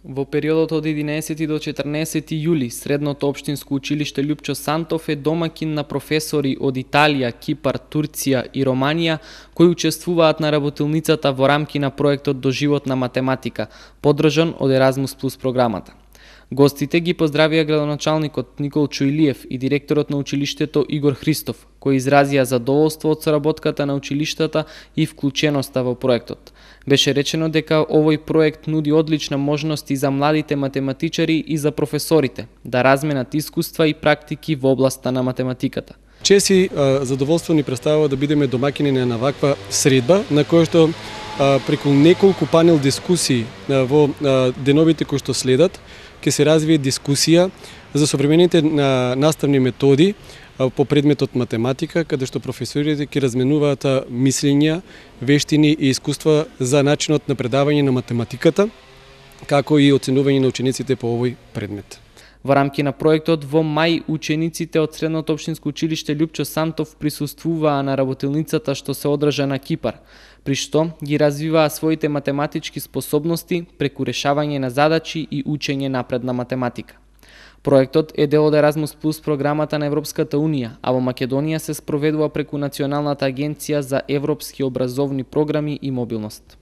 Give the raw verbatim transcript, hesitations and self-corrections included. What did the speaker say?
Во периодот од единаесети до четрнаесети јули, Средното општинско училиште Љупчо Сантов е домаќин на професори од Италија, Кипар, Турција и Романија, кои учествуваат на работилницата во рамки на проектот Доживотна математика, поддржан од Еразмус плюс програмата. Гостите ги поздравија градоначалникот Никол Чујлиев и директорот на училиштето Игор Христов, кои изразија задоволство од соработката на училиштата и вклученоста во проектот. Беше речено дека овој проект нуди одлична можности за младите математичари и за професорите да разменат искуства и практики во областа на математиката. Чест и задоволство ни представува да бидеме домаќини на ваква средба, на која што преку неколку панел дискусии во деновите кои што следат, ќе се развие дискусија за современите наставни методи по предметот математика, каде што професорите ќе разменуваат мислења, вештини и искуства за начинот на предавање на математиката, како и оценување на учениците по овој предмет. Во рамки на проектот во мај учениците од Средното општинско училиште Љупчо Сантов присуствуваа на работилницата што се одржа на Кипар, при што ги развиваа своите математички способности преку решавање на задачи и учење напред на математика. Проектот е дел од Еразмус плюс програмата на Европската унија, а во Македонија се спроведува преку Националната агенција за европски образовни програми и мобилност.